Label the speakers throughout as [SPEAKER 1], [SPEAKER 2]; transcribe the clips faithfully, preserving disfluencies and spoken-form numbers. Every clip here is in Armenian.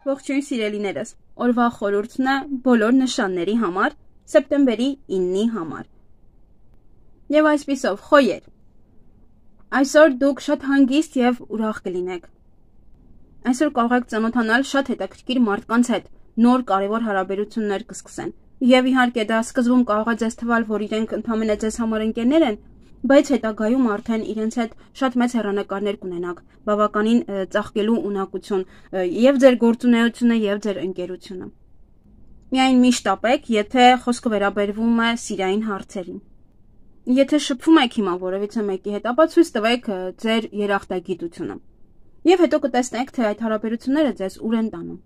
[SPEAKER 1] Ողջույն սիրելիներս, օրվա խորհուրդն է բոլոր նշանների համար, սեպտեմբերի իննի համար։ Եվ այսպիսով, խոյեր, այսօր դուք շատ հանգիստ և ուրախ կլինեք։ Այսօր կարող եք ծանոթանալ շատ հետաքրքիր մարդկանց հետ, նոր կարևոր հարաբերություններ կսկսեն։ Եվ իհարկե դա սկզբում կարող է ձեզ թվալ, որ իրենք ընդամենը ձեզ համար ընկերներ են, բայց հետագայում արդեն իրենց հետ շատ մեծ հեռանկարներ կունենաք, բավականին ծաղկելու ունակություն և ձեր գործունեությունը և ձեր ընկերությունը։ Միայն մի շտապեք, եթե խոսքը վերաբերվում է սիրային հարցերին։ Եթե շփվում եք հիմա որևիցե մեկի հետ, ապա ցույց տվեք ձեր երախտագիտությունը։ Եվ հետո կտեսնեք, թե այդ հարաբերությունները ձեզ ուր են տանում։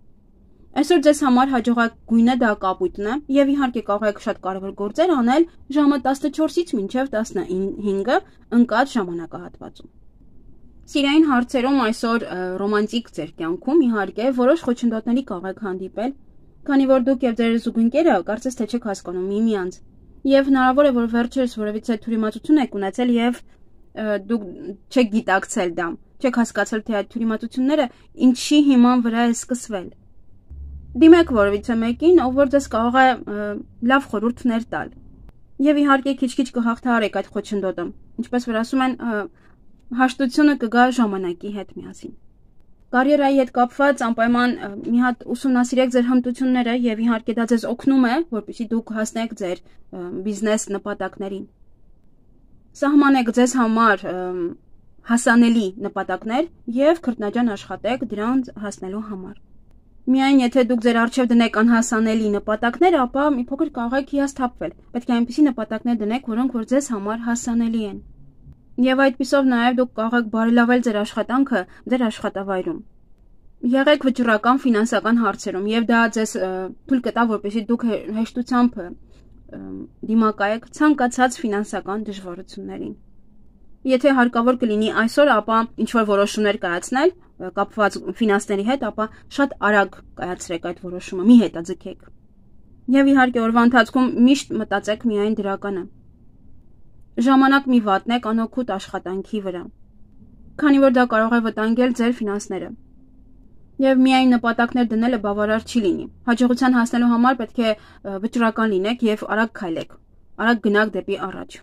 [SPEAKER 1] Այսօր ձեզ համար հաջողակ գույնը դա կապույտն է, և իհարկե կարող եք շատ կարևոր գործեր անել ժամը տասնչորսից մինչև տասնհինգը ընկած ժամանակահատվածում։ Սիրային հարցերում այսօր ռոմանտիկ ձեր կյանքում իհարկե որոշ խոչընդոտների կարող եք հանդիպել, քանի որ դուք և ձեր զուգընկերը կարծես թե չեք հասկանում միմյանց, և հնարավոր է, որ վերջերս որևիցե թյուրիմացություն եք ունեցել և դուք չեք գիտակցել դա, չեք հասկացել, թե այդ թյուրիմացությունները ինչի հիման վրա է սկսվել։ Դիմեք որևիցե մեկին, ով որ ձեզ կարող է լավ խորհուրդներ տալ։ Եվ իհարկե քիչ-քիչ կհաղթահարեք այդ խոչընդոտը, ինչպես որ ասում են, հաշտությունը կգա ժամանակի հետ միասին։ Կարիերայի հետ կապված անպայման մի հատ ուսումնասիրեք ձեր հմտությունները և իհարկե դա ձեզ օգնում է, որպեսզի դուք հասնեք ձեր բիզնես նպատակներին։ Սահմանեք ձեզ համար հասանելի նպատակներ և քրտնաջան աշխատեք դրանց հասնելու համար։ Միայն եթե դուք ձեր առջև դնեք անհասանելի նպատակներ, ապա մի փոքր կարող եք հիասթափվել։ Պետք է այնպիսի նպատակներ դնեք, որոնք որ ձեզ համար հասանելի են։ Եվ այդպիսով նաև դուք կարող եք բարելավել ձեր աշխատանքը ձեր աշխատավայրում։ Եղեք վճռական ֆինանսական հարցերում, և դա ձեզ թույլ կտա, որպեսզի դուք հեշտությամբ դիմակայեք ցանկացած ֆինանսական դժվարություններին։ Եթե հարկավոր կլինի այսօր, ապա ինչ-որ որոշումներ կայացնել կապված ֆինանսների հետ, ապա շատ արագ կայացրեք այդ որոշումը, մի հետաձգեք։ Եվ իհարկե օրվա ընթացքում միշտ մտածեք միայն դրականը։ Ժամանակ մի վատնեք անօգուտ աշխատանքի վրա, քանի որ դա կարող է վտանգել ձեր ֆինանսները։ Եվ միայն նպատակներ դնելը բավարար չի լինի։ Հաջողության հասնելու համար պետք է վճռական լինեք և արագ քայլեք, արագ գնաք դեպի առաջ։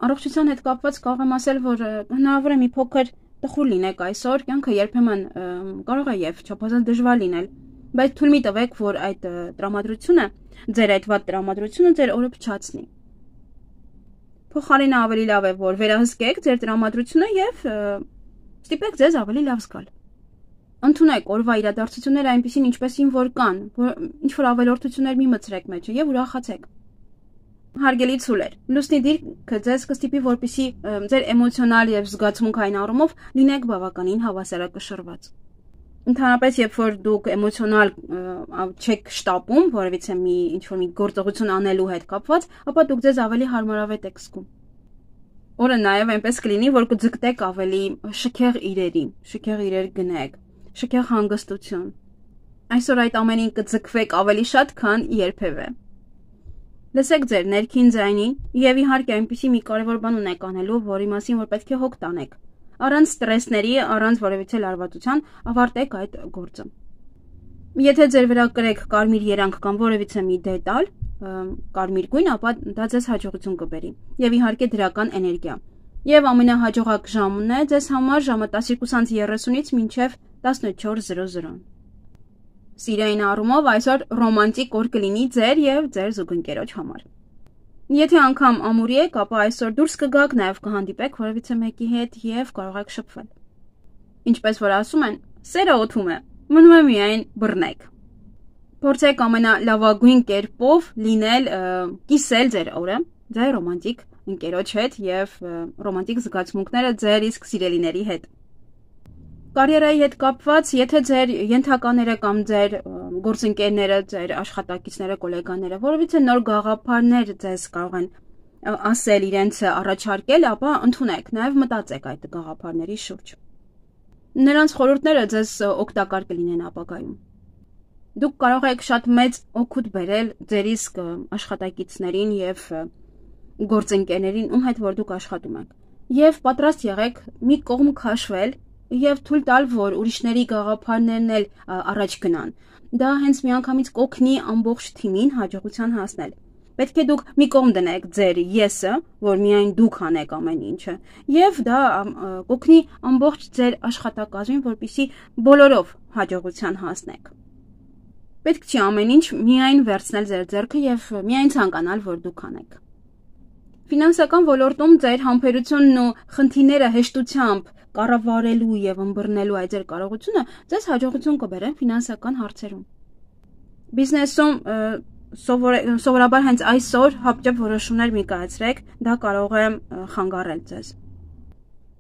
[SPEAKER 1] Առողջության հետ կապված կարող եմ ասել, որ հնարավոր է մի փոքր տխուր լինեք այսօր, կյանքը երբեմն կարող է և չափազանց դժվար լինել, բայց թույլ մի տվեք, որ այդ տրամադրությունը, ձեր այդ վատ տրամադրությունը ձեր օրը փչացնի։ Փոխարենը ավելի լավ է, որ վերահսկեք ձեր տրամադրությունը և ստիպեք ձեզ ավելի լավ զգալ։ Ընդունեք օրվա իրադարձությունները այնպիսին, ինչպեսին որ կան, ինչ-որ ավելորդություններ մի մտցրեք մեջը և ուրախացեք։ Հարգելի ցուլեր, լուսնի դիրքը ձեզ կստիպի, որպեսզի ձեր էմոցիոնալ և զգացմունքային առումով լինեք բավականին հավասարակշռված։ Ընդհանրապես, երբ որ դուք էմոցիոնալ չեք շտապում որևիցե մի ինչ-որ մի գործողություն անելու հետ կապված, ապա դուք ձեզ ավելի հարմարավետ եք զգում։ Օրը նաև այնպես կլինի, որ կձգտեք ավելի շքեղ իրերի, շքեղ իրեր գնեք, շքեղ հանգստություն։ Այսօր այդ ամենին կձգվեք ավելի շատ, քան երբևէ։ Լսեք ձեր ներքին ձայնին և իհարկե այնպիսի մի կարևոր բան ունեք անելու, որի մասին որ պետք է հոգ տանեք։ Առանց ստրեսների, առանց որևիցե լարվածության ավարտեք այդ գործը։ Եթե ձեր վրա կրեք կարմիր երանգ կամ որևիցե մի դետալ, կարմիր գույն, ապա դա ձեզ հաջողություն կբերի և իհարկե դրական էներգիա։ Եվ ամենահաջողակ ժամն է ձեզ համար ժամը տասնյոթ երեսունից մինչև տասնչորս զրո զրո։ Սիրային առումով այսօր ռոմանտիկ օր կլինի ձեր և ձեր զուգընկերոջ համար։ Եթե անգամ ամուրի եք, ապա այսօր դուրս կգաք, նաև կհանդիպեք որևիցե մեկի հետ և կարող եք շփվել։ Ինչպես որ ասում են, սերը օդում է, մնում է միայն բռնեք։ Փորձեք ամենալավագույն կերպով լինել, կիսել ձեր օրը ձեր ռոմանտիկ ընկերոջ հետ և ռոմանտիկ զգացմունքները ձեր իսկ սիրելիների հետ։ Կարիերայի հետ կապված, եթե ձեր ենթակաները կամ ձեր գործընկերները, ձեր աշխատակիցները, գոլեգաները որևիցե նոր գաղափարներ ձեզ կարող են ասել, իրենց առաջարկել, ապա ընդունեք, նաև մտածեք այդ գաղափարների շուրջ։ Նրանց խորհուրդները ձեզ օգտակար կլինեն ապագայում։ Դուք կարող եք շատ մեծ օգուտ բերել ձեր իսկ աշխատակիցներին և գործընկերներին, ում հետ որ դուք աշխատում եք։ Եվ պատրաստ եղեք մի կողմ քաշվել եւ թույլ տալ, որ ուրիշների գաղափարներն էլ առաջ գնան։ Դա հենց միանգամից կօգնի ամբողջ թիմին հաջողության հասնել։ Պետք է դուք մի կողմ դնեք ձեր եսը, որ միայն դուք անեք ամեն ինչը, եւ դա կօգնի ամբողջ ձեր աշխատակազմին, որպեսզի բոլորով հաջողության հասնեք։ Պետք չի ամեն ինչ միայն վերցնել ձեր ձեռքը եւ միայն ցանկանալ, որ դուք անեք։ Ֆինանսական ոլորտում ձեր համբերությունն ու խնդիրները հեշտությամբ կառավարելու եւ ըմբռնելու այդ ձեր կարողությունը ձեզ հաջողություն կբերեն ֆինանսական հարցերում։ Բիզնեսում սովորաբար հենց այսօր հապճեպ որոշումներ մի կայացրեք, դա կարող է խանգարել ձեզ։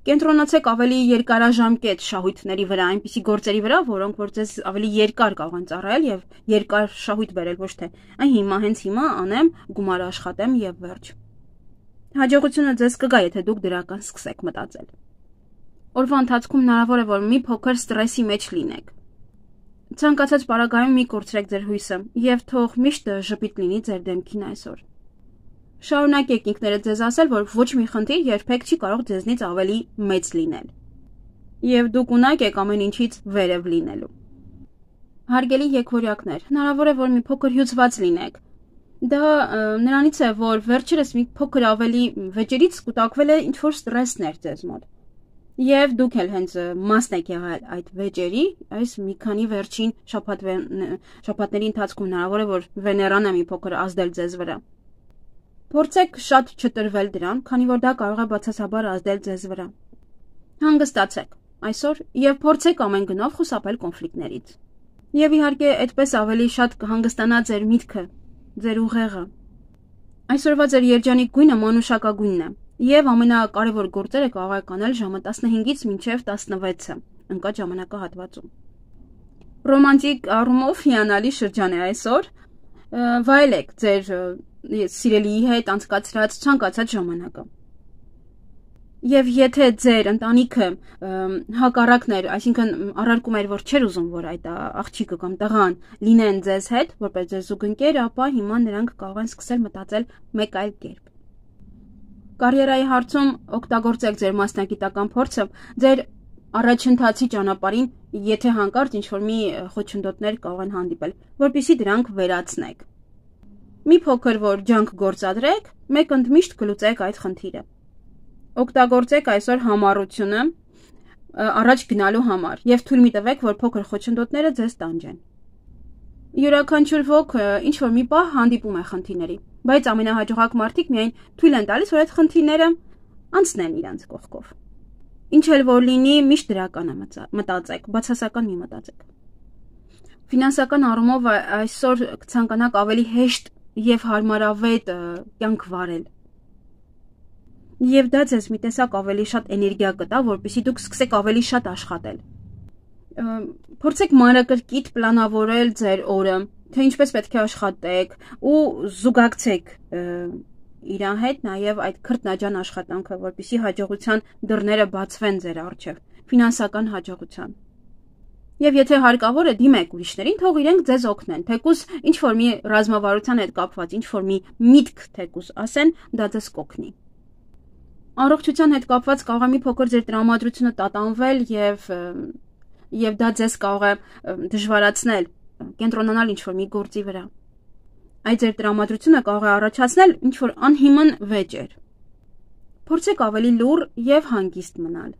[SPEAKER 1] Կենտրոնացեք ավելի երկարաժամկետ շահույթների վրա, այնպիսի գործերի վրա, որոնք որ ձեզ ավելի երկար կարող են ծառայել եւ երկար շահույթ բերել, ոչ թե այն հիմա հենց հիմա անեմ, գումար աշխատեմ եւ վերջ։ Հաջողությունը ձեզ կգա, եթե դուք դրական սկսեք մտածել։ Օրվա ընթացքում հնարավոր է, որ մի փոքր ստրեսի մեջ լինեք։ Ցանկացած պարագայում մի կորցրեք ձեր հույսը եւ թող միշտ ժպիտ լինի ձեր դեմքին այսօր։ Շարունակեք ինքներդ ձեզ ասել, որ ոչ մի խնդիր երբեք չի կարող ձեզնից ավելի մեծ լինել։ Եվ դուք ունակ եք ամեն ինչից վերև լինելու։ Հարգելի եկվորյակներ, հնարավոր է, որ մի փոքր հյուծված լինեք։ Դա նրանից է, որ վերջերս մի փոքր ավելի վեճերից կուտակվել է ինչ-որ ստրեսներ ձեզ մոտ։ Եվ դուք էլ հենց մասն եք եղել այդ վեճերի, այս մի քանի վերջին շաբաթների ընթացքում հնարավոր է, որ Վեներան է մի փոքր ազդել ձեզ վրա։ Փորձեք շատ չտրվել դրան, քանի որ դա կարող է բացասաբար ազդել ձեզ վրա։ Հանգստացեք այսօր եւ փորձեք ամեն գնով խուսափել կոնֆլիկտներից։ Եվ իհարկե, այդպես ավելի շատ կհանգստանա ձեր միտքը, ձեր ուղեղը։ Այսօրվա ձեր երջանիկ գույնը մանուշակագույնն է, եւ ամենակարևոր գործերը կարող եք անել ժամը տասնհինգից մինչև տասնվեցը ընկած ժամանակահատվածում։ Ռոմանտիկ առումով հիանալի շրջան է այսօր։ Վայելեք ձեր սիրելիի հետ անցկացրած ցանկացած ժամանակը։ Եվ եթե ձեր ընտանիքը հակառակն էր, այսինքն առարկում էր, որ չէր ուզում, որ այդ աղջիկը կամ տղան լինեն ձեզ հետ, որպես ձեր զուգընկեր, ապա հիմա նրանք կարող են սկսել մտածել մեկ այլ կերպ։ Կարիերայի հարցում օգտագործեք ձեր մասնագիտական փորձը ձեր առաջընթացի ճանապարհին, եթե հանկարծ ինչ-որ մի խոչընդոտներ կարող են հանդիպել, որպեսզի դրանք վերացնեք։ Մի փոքր որ ջանք գործադրեք, մեկ ընդմիշտ կլուծեք այդ խնդիրը։ Օգտագործեք այսօր համառությունը առաջ գնալու համար եւ թույլ մի տվեք, որ փոքր խոչընդոտները ձեզ տանջեն։ Յուրաքանչյուր ոք ինչ որ մի պահ հանդիպում է խնդիրների, բայց ամենահաջողակ մարդիկ միայն թույլ են տալիս, որ այդ խնդիրները անցնեն իրենց կողքով։ Ինչ էլ որ լինի, միշտ դրական է մտածեք, բացասական մի մտածեք։ Ֆինանսական առումով այսօր կցանկանաք ավելի հեշտ եւ հարմարավետ կյանք վարել։ Եվ դա ձեզ մի տեսակ ավելի շատ էներգիա կտա, որպեսզի դուք սկսեք ավելի շատ աշխատել։ Փորձեք մանրակրկիտ պլանավորել ձեր օրը, թե ինչպես պետք է աշխատեք ու զուգակցեք իրան հետ նաև այդ քրտնաջան աշխատանքը, որպեսզի հաջողության դռները բացվեն ձեր առջև, ֆինանսական հաջողության։ Եվ եթե հարկավոր է, դիմեք ուրիշներին, թող իրենք ձեզ օգնեն, թեկուզ ինչ որ մի ռազմավարության հետ կապված, ինչ որ մի միտք թեկուզ ասեն, դա ձեզ կօգնի։ Առողջության հետ կապված կարող է մի փոքր ձեր տրամադրությունը տատանվել եւ եւ դա ձեզ կարող է դժվարացնել, կենտրոնանալ ինչ որ մի գործի վրա։ Այդ ձեր տրամադրությունը կարող է առաջացնել ինչ որ անհիմն վեճեր։ Փորձեք ավելի լուռ եւ հանգիստ մնալ։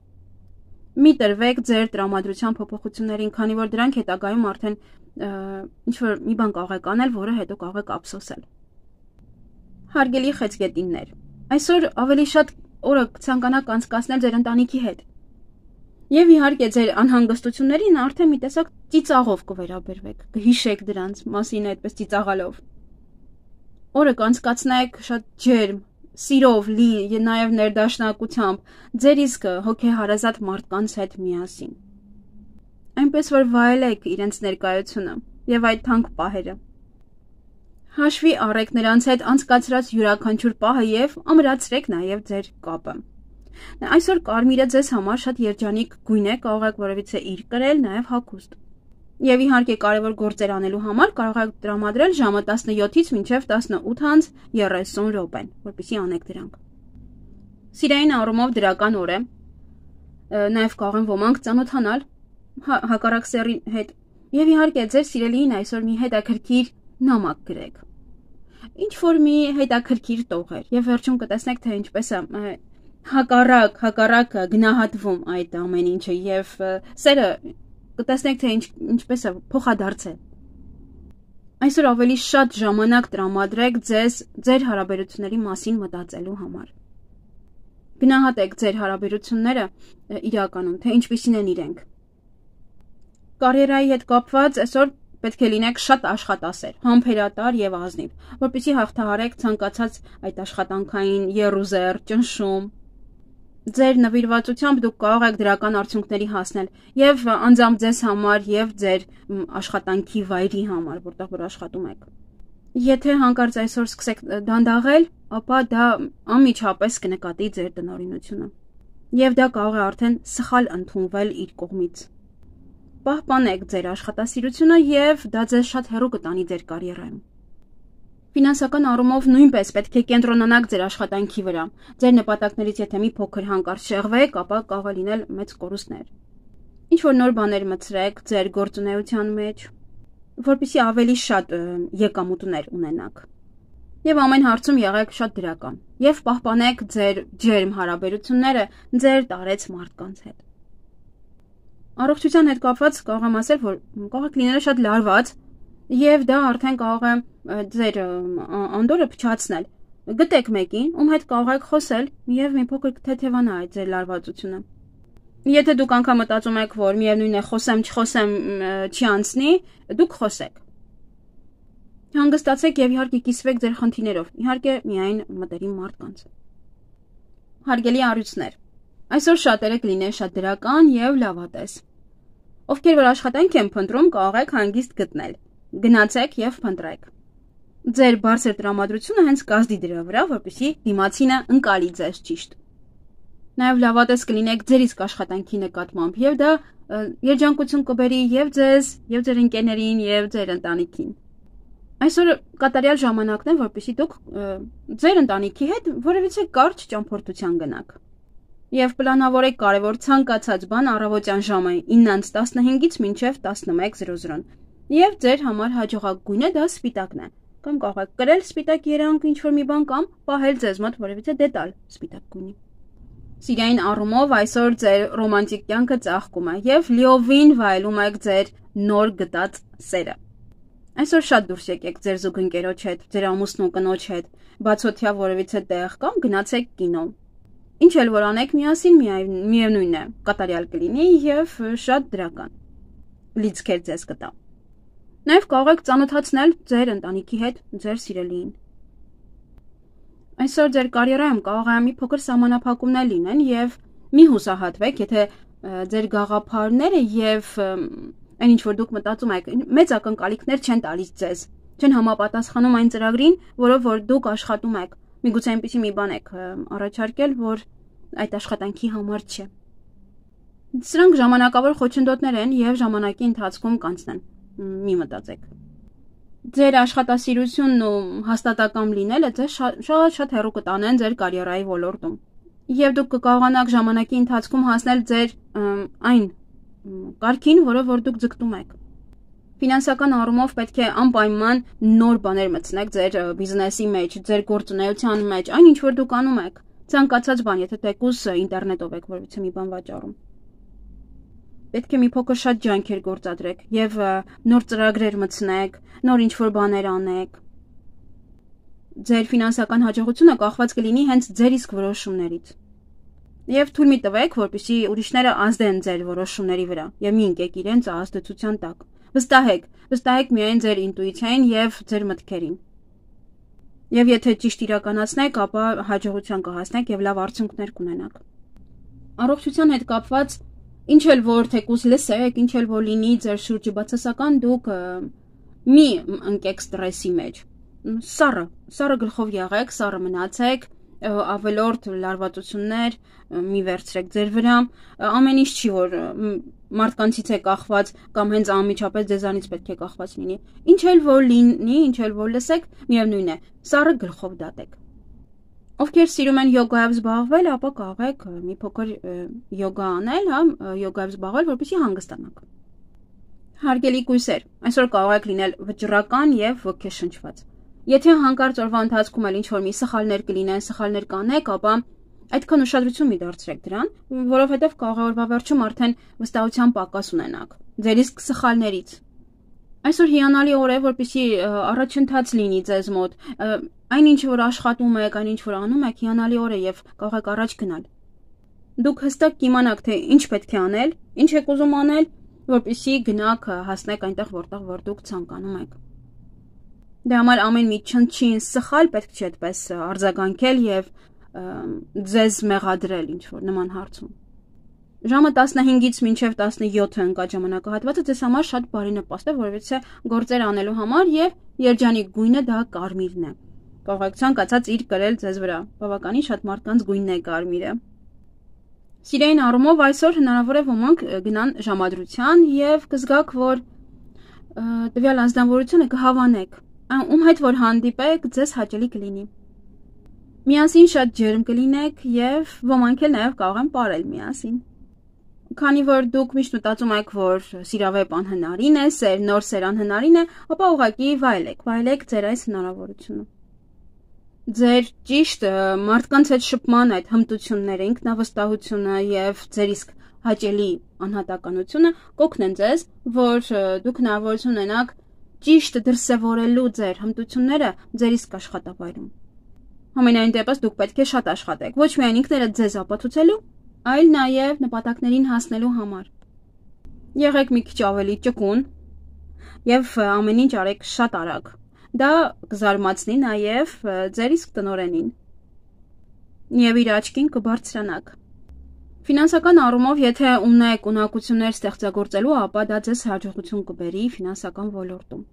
[SPEAKER 1] Մի տրվեք ձեր տրամադրության փոփոխություններին, քանի որ դրանք հետագայում արդեն ինչ որ մի բան կարող եք անել, որը հետո կարող եք ափսոսել։ Հարգելի խեցգետիններ, այսօր ավելի շատ օրը կցանկանաք անցկացնել ձեր ընտանիքի հետ։ Եվ իհարկե ձեր անհանգստություններին արդեն մի տեսակ ծիծաղով կվերաբերվեք, կհիշեք դրանց մասին այդպես ծիծաղալով։ Օրը կանցկացնեք շատ ջերմ, սիրով լի եւ նաեւ ներդաշնակությամբ, ձեր իսկ հոգեհարազատ մարդկանց հետ միասին։ Այնպես որ վայելեք իրենց ներկայությունը եւ այդ թանկ պահերը։ Հաշվի առեք նրանց հետ անցկացրած յուրաքանչյուր պահը եւ ամրացրեք նաեւ ձեր կապը։ Այսօր կարմիրը ձեզ համար շատ երջանիկ գույն է, կարող եք որևիցե իր կրել, նաեւ հագուստ։ Եվ իհարկե կարևոր գործեր անելու համար կարող եք տրամադրել ժամը տասնյոթից մինչև տասնութ անց երեսուն րոպեն, որպեսզի անեք դրանք։ Սիրային առումով դրական օր է։ Նաև կարող են ոմանք ծանոթանալ հակառակ սեռի հետ։ Եվ իհարկե ձեր սիրելիին այսօր մի հետաքրքիր նամակ գրեք։ Ինչ որ մի հետաքրքիր տողեր եւ վերջում կտեսնեք թե ինչպես է հակառակ հակառակը գնահատվում այդ ամեն ինչը եւ սերը կտեսնեք թե ինչ ինչպես է փոխադարձել։ Այսօր ավելի շատ ժամանակ տրամադրեք ձեզ ձեր հարաբերությունների մասին մտածելու համար։ Գնահատեք ձեր հարաբերությունները իրականում, թե ինչպիսին են իրենք։ Կարիերայի հետ կապված այսօր պետք է լինեք շատ աշխատասեր, համբերատար եւ ազնիվ, որպեսզի հաղթահարեք ցանկացած այդ աշխատանքային եռուզեռ, ճնշում։ Ձեր նվիրվածությամբ դուք կարող եք դրական արդյունքների հասնել եւ անձամբ ձեզ համար եւ ձեր աշխատանքի վայրի համար, որտեղ որ աշխատում եք։ Եթե հանկարծ այսօր սկսեք դանդաղել, ապա դա անմիջապես կնկատի ձեր տնօրինությունը եւ դա կարող է արդեն սխալ ընդունվել իր կողմից։ Պահպանեք ձեր աշխատասիրությունը եւ դա ձեզ շատ հեռու կտանի ձեր կարիերայում։ Ֆինանսական առումով նույնպես պետք է կենտրոնանաք ձեր աշխատանքի վրա։ Ձեր նպատակներից եթե մի փոքր հանկարծ շեղվեք, ապա կարող է լինել մեծ կորուստներ։ Ինչ որ նոր բաներ մտցրեք ձեր գործունեության մեջ, որպեսզի ավելի շատ եկամուտներ ունենաք։ Եվ ամեն հարցում եղեք շատ դրական եւ պահպանեք ձեր ջերմ հարաբերությունները ձեր տարեց մարդկանց հետ։ Առողջության հետ կապված կարող եմ ասել, որ կարող եք լինել շատ լարված եւ դա արդեն կարող է ձեր անդորը փչացնել։ Գտեք մեկին, ում հետ կարող եք խոսել եւ մի փոքր թեթևանա այդ ձեր լարվածությունը։ Եթե դուք անգամ մտածում եք, որ միևնույն է խոսեմ, չխոսեմ, չի անցնի, դուք խոսեք։ Հանգստացեք եւ իհարկե կիսվեք ձեր խնդիրներով, իհարկե միայն մտերիմ մարդկանց։ Հարգելի առյուծներ, այսօր շատերը կլինեն շատ դրական եւ լավատես։ Ովքեր որ աշխատանք են փնտրում, կարող եք հանգիստ գտնել։ Գնացեք եւ փնտրեք։ Ձեր բարձր տրամադրությունը հենց կազդի դրա վրա, որպեսզի դիմացինը ընկալի ձեզ ճիշտ։ Նաեւ լավատես կլինեք ձեր իսկ աշխատանքի նկատմամբ եւ դա երջանկություն կբերի եւ ձեզ, եւ ձեր ընկերներին, եւ ձեր ընտանիքին։ Այսօր կատարյալ ժամանակն է, որպեսզի դուք ձեր ընտանիքի հետ որևիցե կարճ ճամփորդության գնաք։ Եվ պլանավորեք կարևոր ցանկացած բան առավոտյան ժամը իննից տասնհինգից մինչև տասնմեկ զրո զրո։ Եվ ձեր համար հաջողակ գույնը դա սպիտակն է։ Կամ կարող եք կրել սպիտակ երանգ ինչ-որ մի բան կամ պահել ձեզ մոտ որևիցե դետալ սպիտակ գույնի։ Սիրային առումով այսօր ձեր ռոմանտիկ կյանքը ծաղկում է եւ լիովին վայելում եք ձեր նոր գտած սերը։ Այսօր շատ դուրս եկեք ձեր զուգընկերոջ հետ, ձեր ամուսնու կնոջ հետ, բացօթյա որևիցե տեղ կամ գնացեք կինո։ Ինչ էլ որ անեք միասին միևնույն է, կատարյալ կլինի եւ շատ դրական։ Լիցքեր ձեզ կտա։ Նաեւ կարող եք ծանոթացնել ձեր ընտանիքի հետ, ձեր սիրելիին։ Այսօր ձեր կարիերայում կարող է մի փոքր սահմանափակումներ լինեն եւ մի հուսահատվեք, եթե ձեր գաղափարները եւ այն ինչ որ դուք մտածում եք, մեծ ակնկալիքներ չեն տալիս ձեզ, չեն համապատասխանում այն ծրագրին, որով որ դուք աշխատում եք։ Միգուցե այնպեսի մի բան եք առաջարկել, որ այդ աշխատանքի համար չէ։ Սրանք ժամանակավոր խոչընդոտներ են եւ ժամանակի ընթացքում կանցնեն։ Մի մտածեք։ Ձեր աշխատասիրությունն ու հաստատակամ լինելը ձեզ շատ-շատ հեռու կտանեն ձեր կարիերայի ոլորտում։ Եվ դուք կկարողանաք ժամանակի ընթացքում հասնել ձեր այն կարգին, որով որ դուք ձգտում եք։ Ֆինանսական առումով պետք է անպայման նոր բաներ մտցնեք ձեր բիզնեսի մեջ, ձեր գործունեության մեջ, այն ինչ որ դուք անում եք, ցանկացած բան, եթե թեկուզ ինտերնետով եք որևիցե մի բան վաճառում։ Պետք է մի փոքր շատ ջանքեր գործադրեք եւ նոր ծրագրեր մտցնեք, նոր ինչ որ բաներ անեք։ Ձեր ֆինանսական հաջողությունը կախված կլինի հենց ձեր իսկ որոշումներից։ Եվ թույլ մի տվեք, որպեսզի ուրիշները ազդեն ձեր որոշումների վրա եւ մի ընկեք իրենց ազդեցության տակ։ Վստահեք, վստահեք միայն ձեր ինտուիցիային եւ ձեր մտքերին։ Եվ եթե ճիշտ իրականացնեք, ապա հաջողության կհասնեք եւ լավ արդյունքներ կունենաք։ Առողջության հետ կապված ինչ էլ որ թեկուզ լսեք, ինչ էլ որ լինի ձեր շուրջը բացասական, դուք մի ընկեք ստրեսի մեջ։ Սառը, սառը գլխով եղեք, սառը մնացեք, ավելորդ լարվածություններ մի վերցրեք ձեր վրա, ամեն ինչ չի որ մարդկանցից է կախված կամ հենց անմիջապես ձեզանից պետք է կախված լինի։ Ինչ էլ որ լինի, ինչ էլ որ լսեք, միևնույն է, սառը գլխով դատեք։ Ովքեր սիրում են յոգայով զբաղվել, ապա կարող եք մի փոքր յոգա անել, հա, յոգայով զբաղվել, որպեսզի հանգստանաք։ Հարգելի կույսեր, այսօր կարող եք լինել վճռական եւ ոգեշնչված։ Եթե հանկարծ օրվա ընթացքում էլ ինչ-որ մի սխալներ կլինեն, սխալներ կանեք, ապա այդքան ուշադրություն մի դարձրեք դրան, որովհետեւ կարող է օրվա վերջում արդեն վստահության պակաս ունենաք ձեր իսկ սխալներից։ Այսօր հիանալի օր է, որպեսզի առաջընթաց լինի ձեզ մոտ։ Այն ինչ որ աշխատում եք, այն ինչ որ անում եք, հիանալի օր է եւ կարող եք առաջ գնալ։ Դուք հստակ կիմանաք, թե ինչ պետք է անել, ինչ եք ուզում անել, որպեսզի գնաք հասնեք այնտեղ, որտեղ որ դուք ցանկանում եք։ Դե համար ամեն մի չնչին սխալ պետք չէ այդպես արձագանքել եւ ձեզ մեղադրել ինչ որ նման հարցում։ Ժամը տասնհինգից մինչև տասնյոթը ընկած ժամանակահատվածը ձեզ համար շատ բարի նպաստ է, որովհետեւ գործեր անելու համար եւ երջանիկ գույնը դա կարմիրն է։ Կարող եք ցանկացած իր կրել ձեզ վրա։ Բավականին շատ մարդկանց գույնն է կարմիրը։ Սիրային առումով այսօր հնարավոր է ոմանք գնան ժամադրության եւ կզգաք, որ տվյալ անձնավորությունը կհավանեք, ում հետ որ հանդիպեք, ձեզ հաճելի կլինի։ Միասին շատ ջերմ կլինեք եւ ոմանք էլ նաեւ կարող են ապրել միասին։ Քանի որ դուք միշտ մտածում եք, որ սիրավեպ անհնարին է, սեր նոր սեր անհնարին է, ապա ուղղակի վայելեք, վայելեք ձեր այս հնարավորությունը։ Ձեր ճիշտ մարդկանց հետ շփման այդ հմտությունները, ինքնավստահությունը եւ ձեր իսկ հաճելի անհատականությունը կօգնեն ձեզ, որ դուք հնարավորություն ունենաք ճիշտ դրսևորելու ձեր հմտությունները ձեր իսկ աշխատավայրում։ Համենայն դեպս դուք պետք է շատ աշխատեք, ոչ միայն ինքներդ ձեզ ապացուցելու, այլ նաեւ նպատակներին հասնելու համար։ Եղեք մի քիչ ավելի ճկուն եւ ամեն ինչ արեք շատ արագ։ Դա կզարմացնի նաև ձեր իսկ տնօրենին եւ իր աչքին կբարձրանաք։ Ֆինանսական առումով, եթե ունեք ունակություններ ստեղծագործելու, ապա դա ձեզ հաջողություն կբերի ֆինանսական ոլորտում։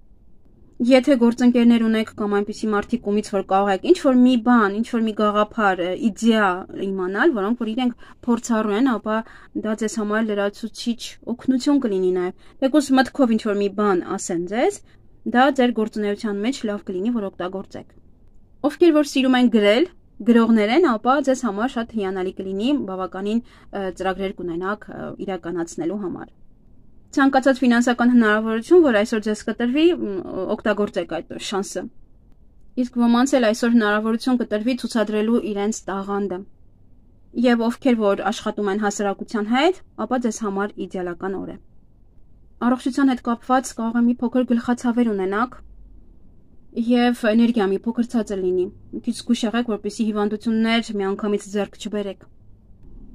[SPEAKER 1] Եթե գործընկերներ ունեք կամ այնպիսի մարդիկ, ումից որ կարող եք ինչ-որ մի բան, ինչ-որ մի գաղափար, իդեա իմանալ, որոնք որ իրենք փորձառու են, ապա դա ձեզ համար լրացուցիչ օգնություն կլինի նաև։ Եկուս մտքով ինչ-որ մի բան ասեն ձեզ, դա ձեր գործունեության մեջ լավ կլինի, որ օգտագործեք։ Ովքեր որ սիրում են գրել, գրողներ են, ապա ձեզ համար շատ հիանալի կլինի, բավականին ծրագրեր կունենաք իրականացնելու համար։ Ցանկացած ֆինանսական հնարավորություն, որ այսօր ձեզ կտրվի, օգտագործեք այդ շանսը։ Իսկ ոմանց էլ այսօր հնարավորություն կտրվի ցուցադրելու իրենց տաղանդը։ Եվ ովքեր որ աշխատում են հասարակության հետ, ապա ձեզ համար իդեալական օր է։ Առողջության հետ կապված կարող է մի փոքր գլխացավեր ունենաք եւ էներգիա մի փոքր ցածր լինի։ Մի քիչ զգուշ եղեք, որպեսզի հիվանդություններ միանգամից ձեռք չբերեք։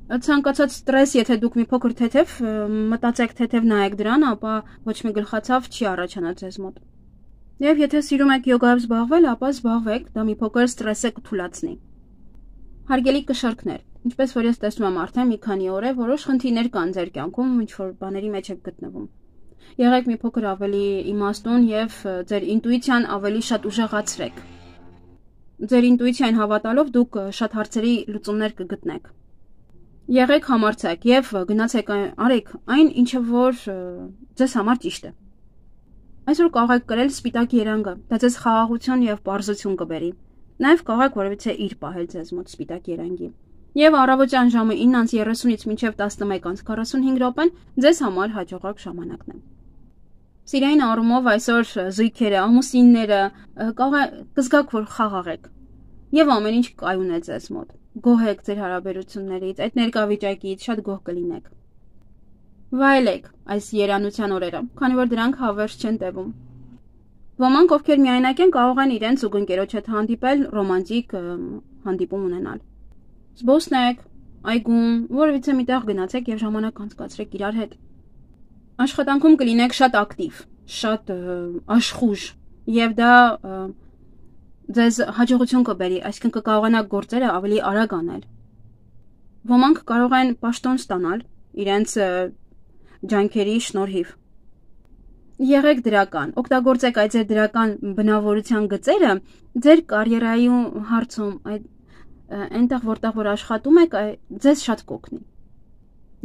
[SPEAKER 1] Ցանկացած ստրես, եթե դուք մի փոքր թեթև մտածեք, թեթև նայեք դրան, ապա ոչ մի գլխացավ չի առաջանա ձեզ մոտ։ Եվ եթե սիրում եք յոգայով զբաղվել, ապա զբաղվեք, դա մի փոքր ստրեսը կթուլացնի։ Հարգելի կշարքներ, ինչպես որ ես տեսնում եմ արդեն մի քանի օր է, որոշ խնդիրներ կան ձեր կյանքում, ինչ որ բաների մեջ եք գտնվում։ Եղեք մի փոքր ավելի իմաստուն եւ ձեր ինտուիցիան ավելի շատ ուժեղացրեք։ Ձեր ինտուիցիային հավատալով դուք շատ հարցերի լուծումներ կգտնեք։ Եղեք համարձակ եւ գնացեք արեք այն, ինչը որ ձեզ համար ճիշտ է։ Այսօր կարող եք կրել սպիտակ երանգը, դա ձեզ խաղաղություն եւ պարզություն կբերի։ Նաեւ կարող եք որևիցե իր պահել ձեզ մոտ սպիտակ երանգի։ Եվ առավոտյան ժամը ինը երեսունից մինչև տասնմեկ քառասունհինգ րոպեն ձեզ համար հաջողակ ժամանակն է։ Սիրային առումով այսօր զույգերը, ամուսինները կարող է կզգաք, որ խաղաղ եք։ Եվ ամեն ինչ կայուն է ձեզ մոտ։ Գոհ եք ձեր հարաբերություններից, այդ ներկայվիճակից շատ գոհ կլինեք։ Վայելեք այս երանության օրերը, քանի որ դրանք հավերժ չեն տևում։ Ոմանք, ովքեր միայնակ են, կարող են իրենց զուգընկերոջ հետ հանդիպել, ռոմանտիկ հանդիպում ունենալ։ Զբոսնեք, այգում, որևիցե մի տեղ գնացեք եւ ժամանակ անցկացրեք իրար հետ։ Աշխատանքում կլինեք շատ ակտիվ, շատ աշխուժ, եւ դա ձեզ հաջողություն կբերի, այսինքն կկարողանաք գործերը ավելի արագ անել։ Ոմանք կարող են պաշտոն ստանալ իրենց ջանքերի շնորհիվ։ Եղեք դրական, օգտագործեք այդ ձեր դրական բնավորության գծերը ձեր կարիերայի հարցում, այդ այնտեղ որտեղ որ աշխատում եք, ձեզ շատ կօգնի։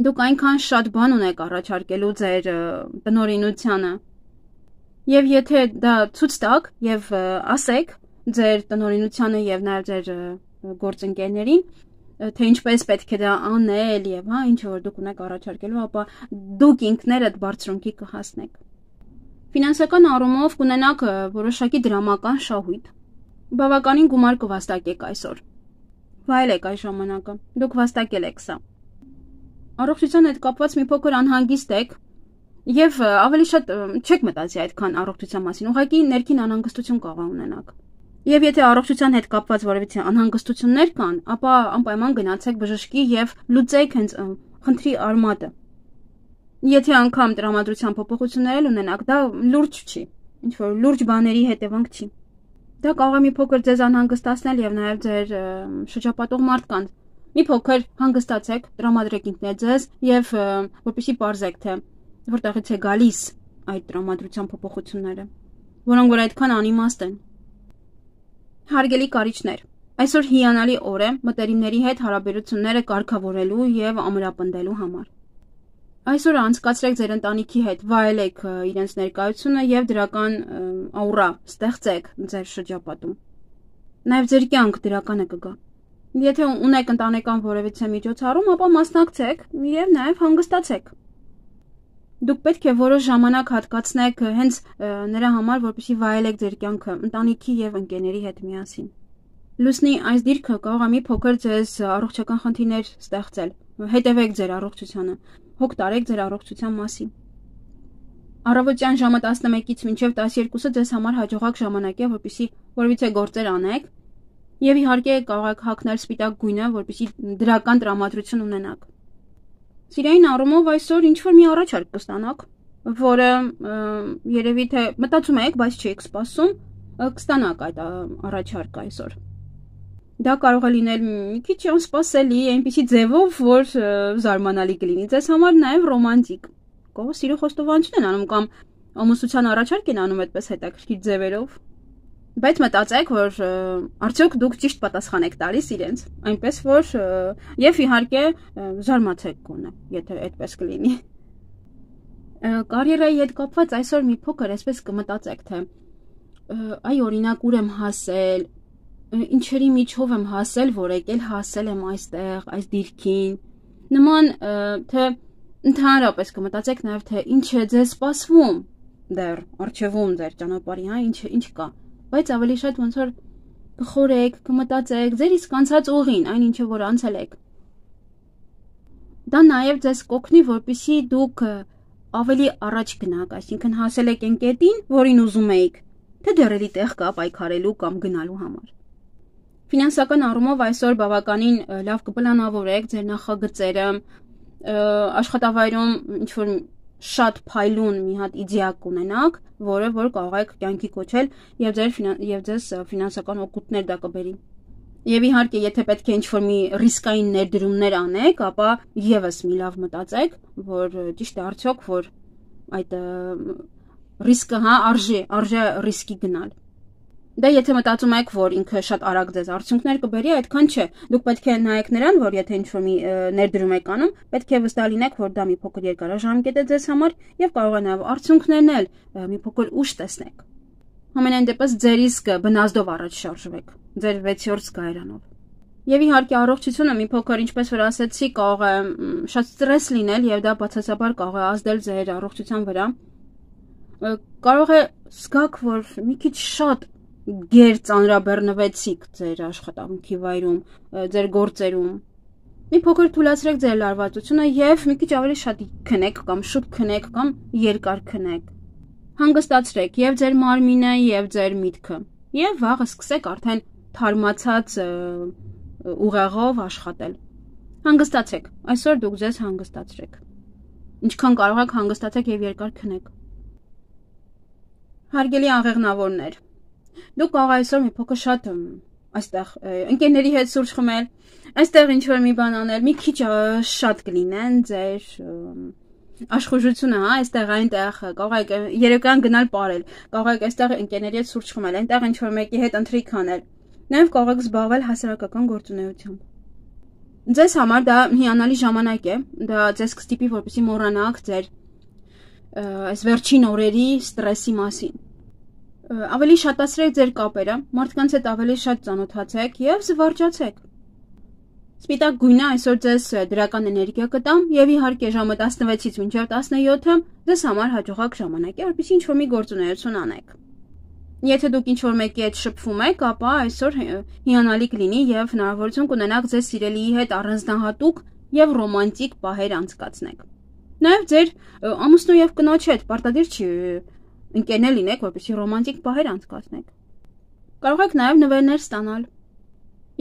[SPEAKER 1] Դուք այնքան շատ բան ունեք առաջարկելու ձեր տնօրինությանը։ Եվ եթե դա ցույց տաք եւ ասեք ձեր տնօրինությանը եւ նաեւ ձեր գործընկերներին, թե ինչպես պետք է դա անել եւ հա ինչ որ դուք ունեք առաջարկելու, ապա դուք ինքներդ բարձրունքի կհասնեք։ Ֆինանսական առումով կունենաք որոշակի դրամական շահույթ։ Բավականին գումար կվաստակեք այսօր։ Վայելեք այս ժամանակը։ Դուք վաստակել եք սա։ Առողջության հետ կապված մի փոքր անհանգիստ եք եւ ավելի շատ չեք մտածի այդքան առողջության մասին։ Ուղղակի ներքին անհանգստություն կարող ունենաք։ Եվ եթե առողջության հետ կապված որևէ անհանգստություններ կան, ապա անպայման գնացեք բժշկի եւ լուծեք հենց խնդրի արմատը։ Եթե անգամ տրամադրության փոփոխություններ ունենաք, դա լուրջ չի, ինչ որ լուրջ բաների հետևանք չի։ Դա կարող է մի փոքր ձեզ անհանգստացնել եւ նաեւ ձեր շրջապատող մարդկանց։ Մի փոքր հանգստացեք, տրամադրեք ինքներդ ձեզ եւ որպեսզի պարզեք, թե որտեղից է գալիս այդ տրամադրության փոփոխությունները, որոնք որ այդքան անիմաստ են։ Հարգելի կարիճներ, այսօր հիանալի օր է մտերիմների հետ հարաբերությունները կարգավորելու եւ ամրապնդելու համար։ Այսօր անցկացրեք ձեր ընտանիքի հետ, վայելեք իրենց ներկայությունը եւ դրական աուրա ստեղծեք ձեր շրջապատում։ Նաեւ ձեր կյանք դրականը կգա։ Եթե ունեք ընտանեկան որևէ միջոցառում, ապա մասնակցեք եւ նաեւ հանգստացեք։ Դուք պետք է որոշ ժամանակ հատկացնեք հենց նրա համար, որպեսզի վայելեք ձեր կյանքը ընտանիքի եւ ընկերների հետ միասին։ Լուսնի այս դիրքը կարող է մի փոքր ձեզ առողջական խնդիրներ ստեղծել։ Հետևեք ձեր առողջությանը, հոգ տարեք ձեր առողջության մասին։ Առավոտյան ժամը տասնմեկից մինչև տասներկուսը ձեզ համար հաջողակ ժամանակ է, որպեսզի որևիցե գործեր անեք եւ իհարկե կարող եք հագնել սպիտակ գույնը, որպեսզի դրական տրամադրություն ունենաք։ Սիրային առումով այսօր ինչ որ մի առաջարկ կստանաք, որը երևի թե մտածում եք, բայց չեք սպասում, կստանաք այդ առաջարկը այսօր։ Դա կարող է լինել մի քիչ անսպասելի, այնպիսի ձևով, որ զարմանալի կլինի ձեզ համար, նաև ռոմանտիկ։ Կարող սիրո խոստովանություն են անում կամ ամուսնության առաջարկ են անում այդպես հետաքրքիր ձևերով։ Բայց մտածեք, որ արդյոք դուք ճիշտ պատասխան եք տալիս իրենց, այնպես որ եւ իհարկե զարմացեք գոնե, եթե այդպես կլինի։ Կարիերայի հետ կապված այսօր մի փոքր այսպես կմտածեք, թե այ օրինակ ուր եմ հասել, ինչերի միջով եմ հասել, որ եկել հասել եմ այստեղ, այս դիրքին։ Նման թե ընդհանրապես կմտածեք նաեւ թե ինչ է ձեզ սպասվում դեռ արժևում ձեր ճանապարհի, հա, ինչ ինչ կա։ Բայց ավելի շատ ոնց որ կխորեք, կմտածեք ձեր իսկ անցած ուղին, այն ինչը որ անցել եք։ Դա նաև ձեզ կօգնի, որպեսզի դուք ավելի առաջ գնաք, այսինքն հասել եք այն կետին, որին ուզում էիք, թե դեռ էլի տեղ կա պայքարելու կամ գնալու համար։ Ֆինանսական առումով այսօր բավականին լավ կպլանավորեք ձեր նախագծերը, աշխատավայրում ինչ որ շատ փայլուն մի հատ իդեա կունենաք, որը որ կարող եք կյանքի կոչել եւ ձեր եւ ձեզ ֆինանսական օգուտներ դա կբերի։ Եվ իհարկե, եթե պետք է ինչ-որ մի ռիսկային ներդրումներ անեք, ապա եւս մի լավ մտածեք, որ ճիշտ է արդյոք, որ այդ ռիսկը, հա, արժե, արժե ռիսկի գնալ։ Դա եթե մտածում եք, որ ինքը շատ արագ ձեզ արդյունքներ կբերի, այդքան չէ։ Դուք պետք է նայեք նրան, որ եթե ինչ-որ մի ներդրում եք անում, պետք է վստահ լինեք, որ դա մի փոքր երկարաժամկետ է ձեզ համար եւ կարող է նաեւ արդյունքներն էլ մի փոքր ուշ տեսնեք։ Համենայն դեպս ձեր իսկը բնազդով առաջ շարժվեք, ձեր վեցյորդ զգայարանով։ Եվ իհարկե առողջությունը մի փոքր, ինչպես որ ասեցի, կարող է շատ ստրես լինել եւ դա բացասաբար կարող է ազդել ձեր առողջության վրա։ Կարող է զգաք, որ մի քիչ շատ գեր ծանրաբեռնվեցիք ձեր աշխատանքի վայրում, ձեր գործերում։ Մի փոքր թույլատրեք ձեր լարվածությունը եւ մի քիչ ավելի շատ քնեք կամ շուտ քնեք կամ երկար քնեք։ Հանգստացրեք եւ ձեր մարմինը եւ ձեր միտքը։ Եվ վաղը սկսեք արդեն թարմացած ուղեղով աշխատել։ Հանգստացեք։ Այսօր դուք ձեզ հանգստացրեք։ Ինչքան կարող եք հանգստացեք եւ երկար քնեք։ Հարգելի աղեղնավորներ, դուք կարող այսօր մի փոքր շատ այստեղ ընկերների հետ սուրճ խմել, այստեղ ինչ որ մի բան անել, մի քիչ շատ կլինեն ձեր աշխուժությունը, հա, այստեղ այնտեղ կարող եք երեկոյան գնալ ապարել, կարող եք այստեղ ընկերների հետ սուրճ խմել, այնտեղ ինչ որ մեկի հետ ընթրիք անել, նաև կարող եք զբաղվել հասարակական գործունեությամբ։ Ձեզ համար դա հիանալի ժամանակ է, դա ձեզ կստիպի, որպեսզի մոռանաք ձեր այս վերջին օրերի ստրեսի մասին։ Ավելի շատացրեք ձեր կապերը, մարդկանց հետ ավելի շատ ծանոթացեք եւ զվարճացեք։ Սպիտակ գույնը այսօր ձեզ դրական էներգիա կտա եւ իհարկե ժամը տասնվեցից մինչեւ տասնյոթը ձեզ համար հաջողակ ժամանակ է, որպեսզի ինչ-որ մի գործունեություն անեք։ Եթե դուք ինչ-որ մեկի հետ շփվում եք, ապա այսօր հիանալի կլինի եւ հնարավորություն կունենաք ձեզ սիրելիի հետ առանձնահատուկ եւ ռոմանտիկ պահեր անցկացնեք։ Նաեւ ձեր ամուսնու եւ կնոջ հետ պարտադիր չի ընկերներ լինեք, որպեսզի ռոմանտիկ պահեր անցկացնեք։ Կարող եք նաեւ նվերներ ստանալ։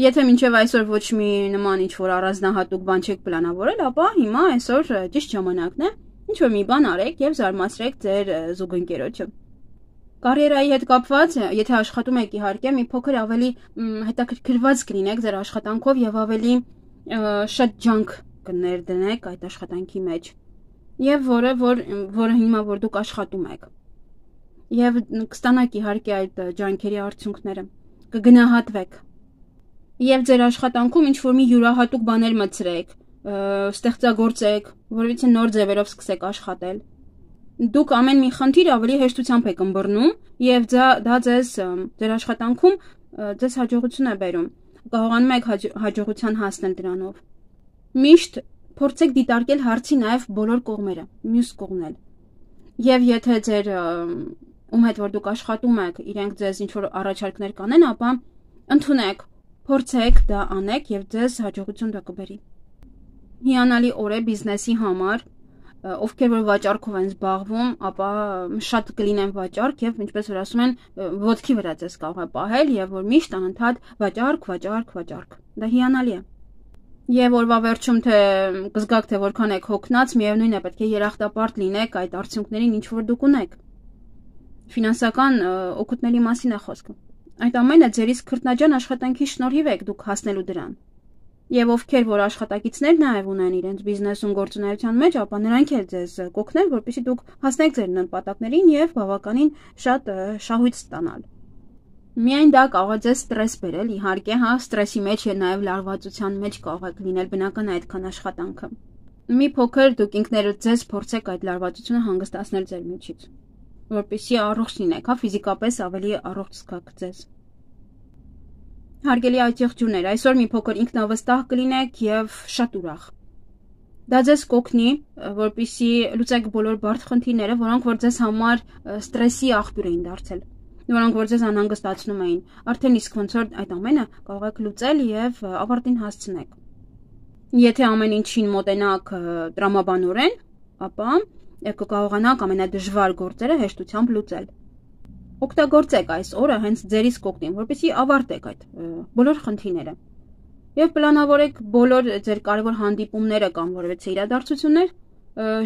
[SPEAKER 1] Եթե մինչև այսօր ոչ մի նման ինչ-որ առանձնահատուկ բան չեք պլանավորել, ապա հիմա այսօր ճիշտ ժամանակն է ինչ-որ մի բան արեք եւ զարմացրեք ձեր զուգընկերոջը։ Կարիերայի հետ կապված, եթե աշխատում եք իհարկե, մի փոքր ավելի հետաքրքրված կլինեք ձեր աշխատանքով եւ ավելի շատ ջանք կներդնեք այդ աշխատանքի մեջ։ Եվ որը որ որը հիմա որ դուք աշխատում եք։ Եվ կստանաք իհարկե այդ ջանքերի արդյունքները, կգնահատվեք։ Եվ ձեր աշխատանքում ինչ-որ մի յուրահատուկ բաներ մտցրեք, ստեղծագործեք, որովհետեւ նոր ձևերով սկսեք աշխատել։ Դուք ամեն մի խնդիր ավելի հեշտությամբ եք ըմբռնում եւ դա դա ձեզ ձեր աշխատանքում ձեզ հաջողություն է բերում։ Կարողանում եք հաջողության հասնել դրանով։ Միշտ փորձեք դիտարկել հարցի նաեւ բոլոր կողմերը, մյուս կողմն էլ։ Եվ եթե ձեր ում հետ որ դուք աշխատում եք, իրենք ձեզ ինչ-որ առաջարկներ կանեն, ապա ընդունեք, փորձեք դա անեք եւ ձեզ հաջողություն դա կբերի։ Հիանալի օր է բիզնեսի համար, ովքեր որ վաճառքով են զբաղվում, ապա շատ կլինեն վաճառք եւ ինչպես որ ասում են, ոտքի վրա ձեզ կարող է պահել եւ որ միշտ անընդհատ վաճառք, վաճառք, վաճառք։ Դա հիանալի է։ Եվ օրվա վերջում թե կզգաք թե որքան եք հոգնած, միևնույն է պետք է երախտապարտ լինեք այդ արդյունքներին, ինչ որ դուք ունեք։ Ֆինանսական օգուտների մասին է խոսքը։ Այդ ամենը ձեր իսկ քրտնաջան աշխատանքի շնորհիվ եք դուք հասնելու դրան։ Եվ ովքեր որ աշխատակիցներ նաև ունեն իրենց բիզնեսում գործունեության մեջ, ապա նրանք էլ ձեզ կօգնեն, որպեսզի դուք հասնեք ձեր նպատակներին եւ բավականին շատ շահույթ ստանալ։ Միայն դա կարող է ձեզ ստրես բերել, իհարկե, հա, ստրեսի մեջ եւ նաեւ լարվածության մեջ կարող եք լինել, բնական է այդքան աշխատանքը։ Մի փոքր դուք ինքներդ ձեզ փորձեք այդ լարվածությունը հանգստացնել ձեր միջից, որպեսզի առողջ լինեք, հա, ֆիզիկապես ավելի առողջ զգաք ձեզ։ Հարգելի այցեղջուրներ, այսօր մի փոքր ինքնավստահ կլինեք եւ շատ ուրախ։ Դա ձեզ կօգնի, որպեսզի լուծեք բոլոր բարդ խնդիրները, որոնք որ ձեզ համար ստրեսի աղբյուր էին դարձել, որոնք որ ձեզ անհանգստացնում էին։ Արդեն իսկ ոնց որ այդ ամենը կարող եք լուծել եւ ավարտին հասցնեք։ Եթե ամեն ինչին մոտենաք տրամաբանորեն, ապա կկարողանաք ամենադժվար գործերը հեշտությամբ լուծել։ Օգտագործեք այս օրը հենց ձերից կօգնին, որպեսզի ավարտեք այդ բոլոր խնդիրները։ Եվ պլանավորեք բոլոր ձեր կարևոր հանդիպումները կամ որևէ իրադարձություններ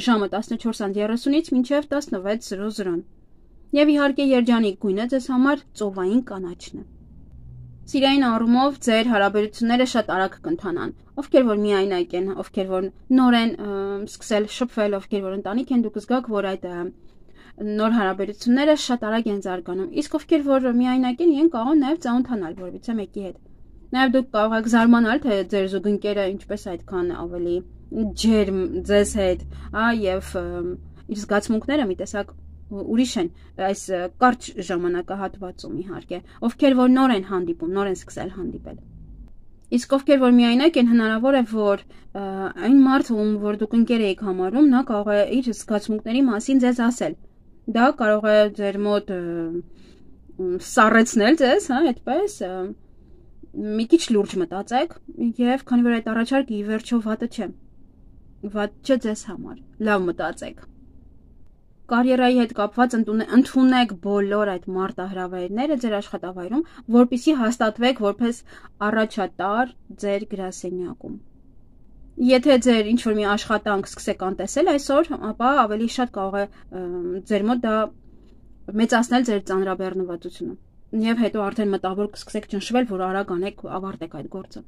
[SPEAKER 1] ժամը տասնչորս երեսունից մինչև տասնվեց զրո։ Եվ իհարկե երջանիկ գույնը ձեզ համար ծովային կանաչն է։ Սիրային առումով ձեր հարաբերությունները շատ արագ կընթանան։ Ովքեր որ միայնակ են, ովքեր որ նոր են սկսել շփվել, ովքեր որ ընտանիք են, դուք զգաք, որ այդ նոր հարաբերությունները շատ արագ են զարգանում։ Իսկ ովքեր որ միայնակ են, իրենք կարող են նաև ծանոթանալ որևիցե մեկի հետ։ Նաև դուք կարող եք զարմանալ, թե ձեր զուգընկերը ինչպես այդքան ավելի ջերմ ձեզ հետ, հա, եւ իր զգացմունքները մի տեսակ ուրիշ են այս կարճ ժամանակահատվածում իհարկե, ովքեր որ նոր են հանդիպում, նոր են սկսել հանդիպել։ Իսկ ովքեր որ միայնակ են, հնարավոր է որ այն մարդը, ում որ դուք ընկեր եք համարում, նա կարող է իր զգացմունքների մասին ձեզ ասել։ Դա կարող է ձեր մոտ սառեցնել ձեզ, հա, այդպես մի քիչ լուրջ մտածեք եւ քանի որ այդ առաջարկը ի վերջո վատը չէ։ Վատ չէ ձեզ համար։ Լավ մտածեք։ Կարիերայի հետ կապված ընդունեք բոլոր այդ մարտահրավերները ձեր աշխատավայրում, որպեսզի հաստատվեք որպես առաջատար ձեր գրասենյակում։ Եթե ձեր ինչ-որ մի աշխատանք սկսեք անտեսել այսօր, ապա ավելի շատ կարող է ձեր մոտ դա մեծացնել ձեր ծանրաբեռնվածությունը։ Եվ հետո արդեն մտավոր կսկսեք ճնշվել, որ արագ անեք, ավարտեք այդ գործը։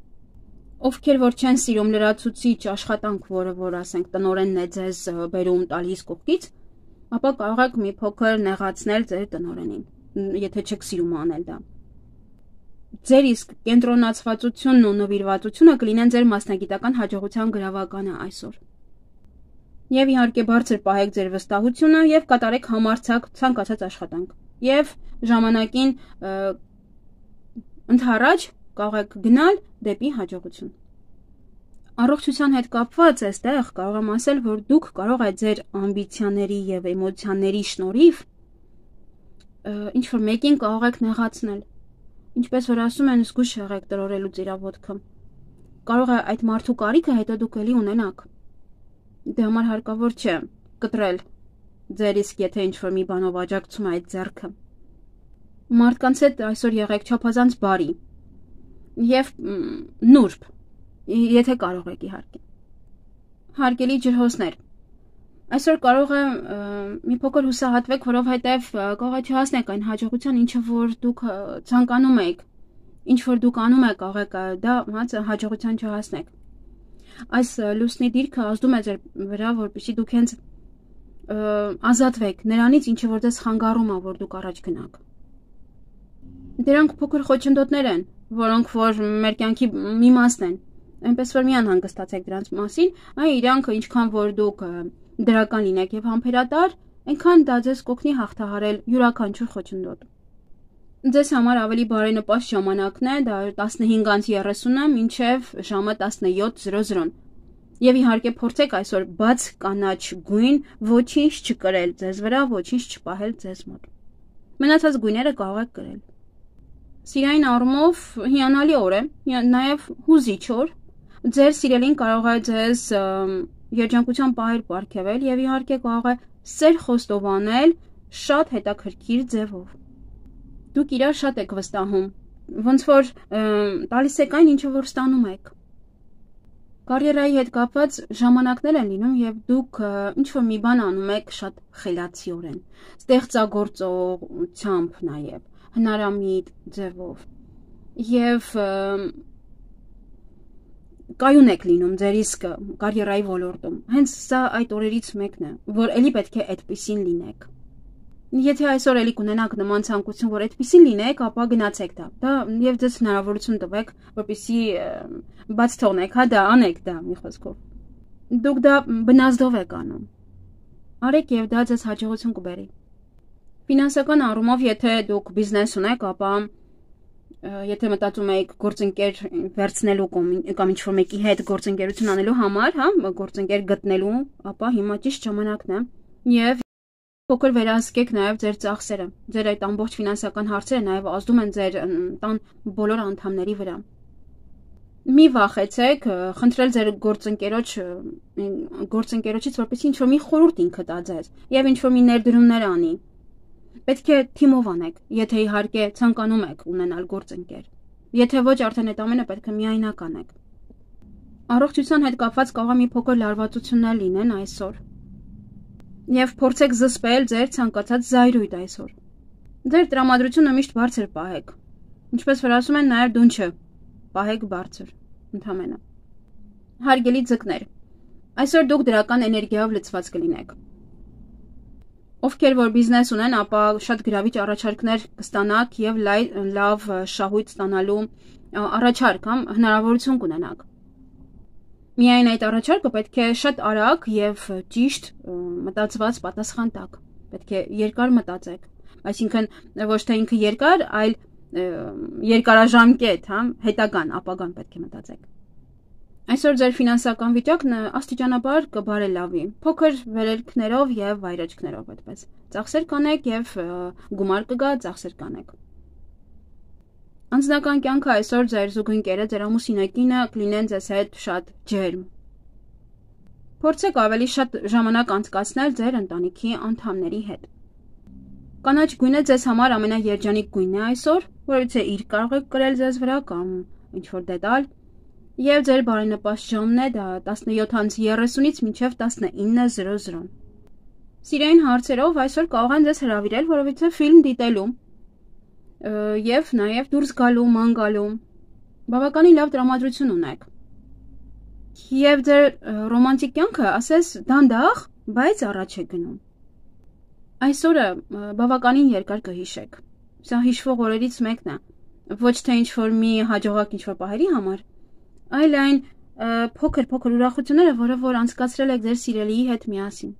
[SPEAKER 1] Ովքեր որ չեն սիրում լրացուցիչ աշխատանք, որը որ ասենք տնօրենն է ձեզ բերում տալիս կողքից, ապա կարող եք մի փոքր նեղացնել ձեր տնօրենին, եթե չեք սիրում անել դա։ Ձեր իսկ կենտրոնացվածությունն ու նվիրվածությունը կլինեն ձեր մասնագիտական հաջողության գրավականը այսօր։ Եվ իհարկե բարձր պահեք ձեր վստահությունը եւ կատարեք համարձակ ցանկացած աշխատանք։ եւ ժամանակին ընդառաջ կարող եք գնալ դեպի հաջողություն։ Առողջության հետ կապված այստեղ կարող եմ ասել, որ դուք կարող եք ձեր ամբիցիաների եւ էմոցիաների շնորհիվ ինչ-որ մեկին կարող եք նեղացնել։ Ինչպես որ ասում են, զգույշ եղեք տրորելուց իրավոտքը։ Կարող է այդ մարդու կարիքը հետո դուք էլի ունենաք։ Դե համար հարկավոր չէ կտրել ձեր իսկ եթե ինչ-որ մի բանով աջակցում է այդ ձեռքը։ Մարդկանց հետ այսօր եղեք չափազանց բարի եւ նուրբ, եթե կարող եք իհարկե։ Հարգելի ջրհոսներ, այսօր կարող է մի փոքր հուսահատվեք, որովհետեւ կարող է չհասնեք այն հաջողության, ինչը որ դուք ցանկանում եք, ինչ որ դուք անում եք, կարող եք դա հաջողության չհասնեք։ Այս լուսնի դիրքը ազդում է ձեր վրա, որպեսզի դուք հենց ազատվեք նրանից, ինչը որ ձեզ խանգարում է, որ դուք առաջ գնաք։ Դրանք փոքր խոչընդոտներ են, որոնք որ մեր կյանքի մի մասն են։ Այնպես որ մի անհանգստացեք դրանց մասին, այ իրանք ինչքան որ դուք դրական լինեք եւ համբերատար, այնքան դա ձեզ կօգնի հաղթահարել յուրաքանչյուր խոչընդոտ։ Ձեզ համար ավելի բարենպաստ ժամանակն է, դա տասնհինգից երեսունը մինչև ժամը տասնյոթ եւ իհարկե փորձեք այսօր բաց կանաչ գույն ոչինչ չկրել ձեզ վրա, ոչինչ չպահել ձեզ մոտ։ Մնացած գույները կարող եք կրել։ Սիրային առումով հիանալի օր է, նաեւ հուզիչ օր։ Ձեր սիրելին կարող է ձեզ երջանկության պահեր պարգևել եւ իհարկե կարող է սեր խոստովանել շատ հետաքրքիր ձևով։ Դուք իրար շատ եք վստահում, ոնց որ տալիս եք այն, ինչը որ ստանում եք։ Կարիերայի հետ կապված ժամանակներ են լինում եւ դուք ինչ որ մի բան անում եք շատ խելացիորեն, ստեղծագործությամբ նաեւ, հնարամիտ ձևով։ Եվ կայուն եք լինում ձեր իսկ կարիերայի ոլորտում։ Հենց սա այդ օրերից մեկն է, որ էլի պետք է այդպեսին լինեք։ Եթե այսօր էլի կունենաք նման ցանկություն, որ այդպեսին լինեք, ապա գնացեք դա։ Դա եւ ձեզ հնարավորություն տվեք, որպեսզի բաց թողնեք, հա դա անեք դա մի խոսքով։ Դուք դա բնազդով եք անում։ Արեք եւ դա ձեզ հաջողություն կբերի։ Ֆինանսական առումով, եթե դուք բիզնես ունեք, ապա եթե մտածում եք գործընկեր վերցնելու կամ ինչ-որ մեկի հետ գործընկերություն անելու համար, հա, գործընկեր գտնելու, ապա հիմա ճիշտ ժամանակն է եւ փոքր վերահսկեք նաեւ ձեր ծախսերը։ Ձեր այդ ամբողջ ֆինանսական հարցերը նաեւ ազդում են ձեր տան բոլոր անդամների վրա։ Մի վախեցեք խնդրել ձեր գործընկերոջ գործընկերոջից, որպեսզի ինչ-որ մի խորհուրդ ինքը տա ձեզ եւ ինչ-որ մի ներդրումներ անի։ Պետք է թիմով անեք, եթե իհարկե ցանկանում եք ունենալ գործընկեր։ Եթե ոչ, արդեն այդ ամենը պետք է միայնակ անեք։ Առողջության հետ կապված կարող է մի փոքր լարվածություններ լինեն այսօր։ Եվ փորձեք զսպել ձեր ցանկացած զայրույթ այսօր։ Ձեր տրամադրությունը միշտ բարձր պահեք։ Ինչպես որ ասում են, նաև դունչը պահեք բարձր, ընդհանրապես։ Հարգելի ձկներ, այսօր դուք դրական էներգիայով լցված կլինեք։ Ովքեր որ բիզնես ունեն, ապա շատ գրավիչ առաջարկներ կստանաք եւ լավ շահույթ ստանալու առաջարկ, համ հնարավորություն կունենաք։ Միայն այդ առաջարկը պետք է շատ արագ եւ ճիշտ մտածված պատասխան տաք։ Պետք է երկար մտածեք, այսինքն ոչ թե ինքը երկար, այլ երկարաժամկետ, հա, հետագան, ապագան պետք է մտածեք։ Այսօր ձեր ֆինանսական վիճակն աստիճանաբար կբարելավի, փոքր վերելքներով եւ վայրեջքներով այդպես։ Ծախսեր կանեք եւ գումար կգա, ծախսեր կանեք։ Անձնական կյանքը այսօր ձեր զուգընկերը, ձեր ամուսինը կլինեն ձեզ հետ շատ ջերմ։ Փորձեք ավելի շատ ժամանակ անցկացնել ձեր ընտանիքի անդամների հետ։ Կանաչ գույնը ձեզ համար ամենաերջանիկ գույնն է այսօր, որովհետեւ իր կարող եք կրել ձեզ վրա կամ ինչ-որ դետալ։ Եվ ձեր բարենպաստ ժամն է դա տասնյոթից երեսունից մինչև տասնինը։ Սիրային հարցերով այսօր կարող են ձեզ հրավիրել, որովհետեւ ֆիլմ դիտելու եւ նաեւ դուրս գալու, ման գալու բավականին լավ տրամադրություն ունեք։ Եվ ձեր ռոմանտիկ կյանքը, ասես, դանդաղ, բայց առաջ է գնում։ Այսօրը բավականին երկար կհիշեք։ Սա հիշվող օրերից մեկն է, ոչ թե ինչ-որ մի հաջողակ ինչ-որ պահերի համար, այլ այն փոքր-փոքր ուրախությունները, որը որ անցկացրել եք ձեր սիրելիի հետ միասին։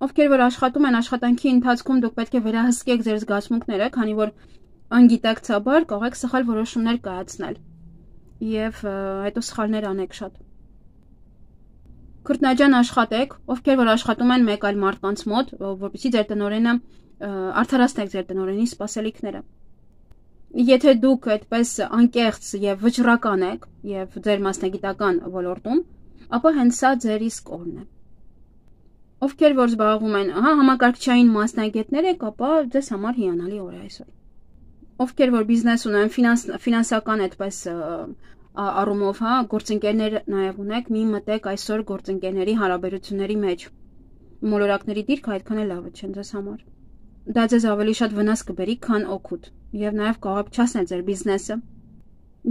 [SPEAKER 1] Ովքեր որ աշխատում են աշխատանքի ընթացքում դուք պետք է վերահսկեք ձեր զգացմունքները, քանի որ անգիտակցաբար կարող եք սխալ որոշումներ կայացնել եւ հետո սխալներ անեք շատ։ Քրտնաջան աշխատեք, ովքեր որ աշխատում են մեկ այլ մարդկանց մոտ, որպեսզի ձեր տնօրենը արդարացնեք ձեր տնօրենի սպասելիքները։ Եթե դուք այդպես անկեղծ եւ վճռական եք եւ ձեր մասնագիտական ոլորտում, ապա հենց սա ձեր իսկ օրն է։ Ովքեր որ զբաղվում են հա համակարգչային մասնագետներ եք, ապա ձեզ համար հիանալի օր է այսօր։ Ովքեր որ բիզնես ունեն, ֆինանս ֆինանսական այդպես առումով, հա, գործընկերներ նաև ունեք, մի մտեք այսօր գործընկերների հարաբերությունների մեջ։ Մոլորակների դիրքը այդքան էլ լավը չեն ձեզ համար։ Դա ձեզ ավելի շատ վնաս կբերի, քան օգուտ, եւ նաև կարող եք չասնել ձեր բիզնեսը։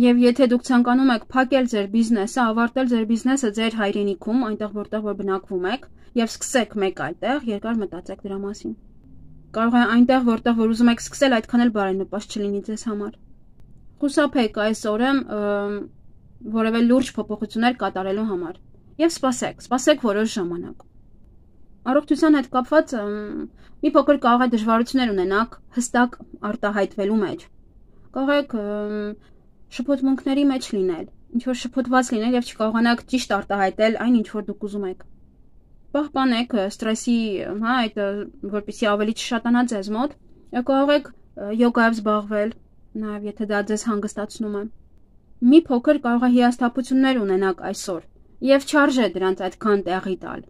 [SPEAKER 1] Եվ եթե դուք ցանկանում եք փակել ձեր բիզնեսը, ավարտել ձեր բիզնեսը ձեր հայրենիքում, այնտեղ որտեղ որ բնակվում եք, եւ սկսեք մեկ այլ տեղ, երկար մտածեք դրա մասին։ Կարող է այնտեղ, որտեղ որ ուզում եք սկսել, այդքան էլ բարենպաստ չլինի ձեզ համար։ Խուսափեք այս օրը որևէ լուրջ փոփոխություններ կատարելու համար եւ սպասեք, սպասեք որոշ ժամանակ։ Առողջության հետ կապված մի փոքր կարող է դժվարություններ ունենաք հստակ արտահայտվելու մեջ։ Կարող եք շփոթմունքների մեջ լինել, ինչ որ շփոթված լինել եւ չկարողանաք ճիշտ արտահայտել այն, ինչ որ դուք ուզում եք։ Պահպանեք ստրեսի, հա, այդ որպեսզի ավելի չշատանա ձեզ մոտ, կարող եք յոգայով զբաղվել, նաեւ եթե դա ձեզ հանգստացնում է։ Մի փոքր կարող է հիասթափություններ ունենաք այսօր եւ չարժե դրանց այդքան տեղի տալ։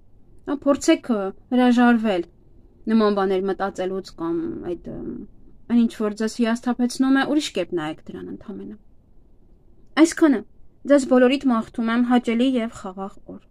[SPEAKER 1] Փորձեք հրաժարվել նման բաներ մտածելուց կամ այդ այն ինչ որ ձեզ հիասթափեցնում է, ուրիշ կերպ նայեք դրան ընդհանրապես։ Այսքանը ձեզ բոլորիդ մաղթում եմ հաճելի եւ խաղաղ օր։